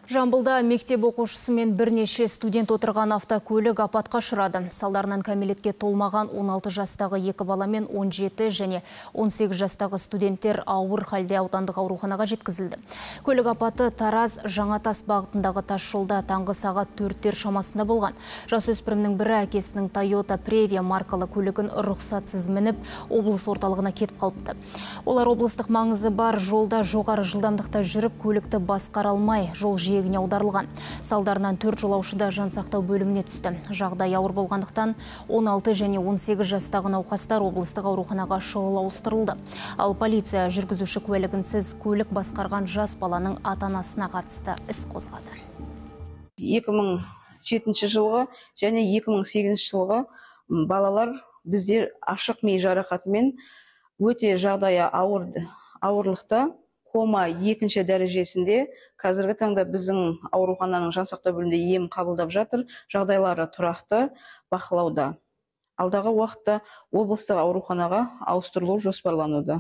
Жамбылда мектеп оқушысы мен бірнеше студент отырған автокөлік апатқа ұшырады. Салдарынан кәмелетке толмаған 16 жастағы 2 бала мен 17 және 18 жастағы студенттер ауыр халде аудандық ауруханаға жеткізілді. Көлік апаты Тараз Жаңатас бағытындағы тас жолда таңғы сағат 4-тер шамасында болған. Жасөспірімнің бірі әкесінің Toyota Previa маркалы көлігін рұқсатсыз мініп, облыс орталығына кетіп қалыпты. Олар облыстық маңызы бар жолда жоғары жылдамдықта жүріп, көлікті басқара алмай, жол жиегіне аударылған. Салдарынан 4 жолаушы да жансақтау бөліміне түсті. Жағдай ауыр болғандықтан 16 және 18 жастағы науқастар облыстық ауруханаға шұғыл ауыстырылды. Ал полиция жүргізуші куәлігінсіз көлік басқарған жас баланың ата-анасына қатысты іс қозғады. 2007 жылғы және 2008 жылғы балалар біздер ашық ми жарақатымен өте жағдайы ауырлықта, кома 2-ші дәрежесінде, қазіргі таңда біздің аурухананың жансақтау бөлімінде ем қабылдап жатыр, жағдайлары тұрақты, бақылауда. Алдағы уақытта облыстық ауруханаға ауыстырылу жоспарлануда.